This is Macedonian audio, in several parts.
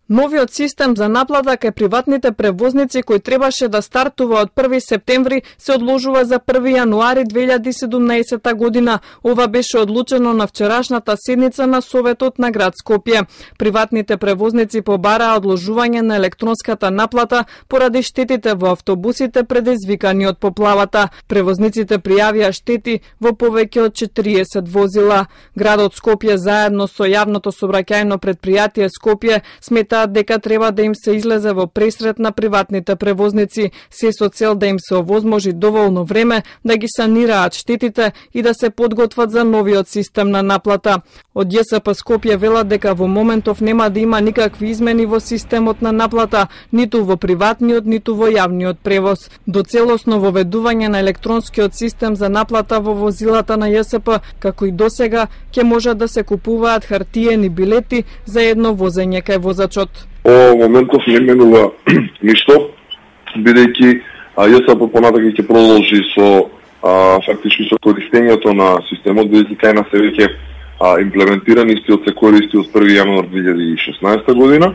Новиот систем за наплата кај приватните превозници кој требаше да стартува од 1 септември се одложува за 1 јануари 2017 година. Ова беше одлучено на вчерашната седница на Советот на град Скопје. Приватните превозници побараа одложување на електронската наплата поради штетите во автобусите предизвикани од поплавата. Превозниците пријавија штети во повеќе од 40 возила. Градот Скопје заедно со јавното сообраќајно предпријатие Скопје смета дека треба да им се излезе во пресрет на приватните превозници, се со цел да им се овозможи доволно време да ги санираат штетите и да се подготват за новиот систем на наплата. Од ЈСП Скопје велат дека во моментов нема да има никакви измени во системот на наплата, ниту во приватниот, ниту во јавниот превоз. До целосно воведување на електронскиот систем за наплата во возилата на ЈСП, како и досега, ќе можат да се купуваат хартиени билети за едно возење кај возачот. Во моментов не менува ништо, бидејќи ЈСП понатака ќе продолжи со фактички со користењето на системот, бидејќи кај нас се веќе имплементиран истиот се користи од 1 јануар 2016 година.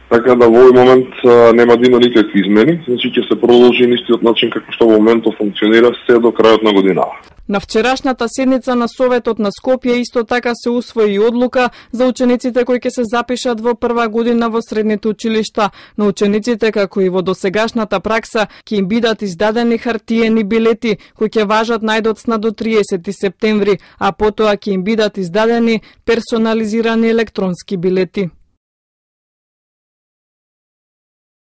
Така да во овој момент нема да има никакви измени, значи ќе се продолжи на истиот начин како што во моментот функционира се до крајот на годината. На вчерашната седница на Советот на Скопје исто така се усвои одлука за учениците кои ќе се запишат во прва година во средните училишта. На учениците, како и во досегашната пракса, ќе им бидат издадени хартиени билети кои ќе важат најдоцна до 30 септември, а потоа ќе им бидат издадени персонализирани електронски билети.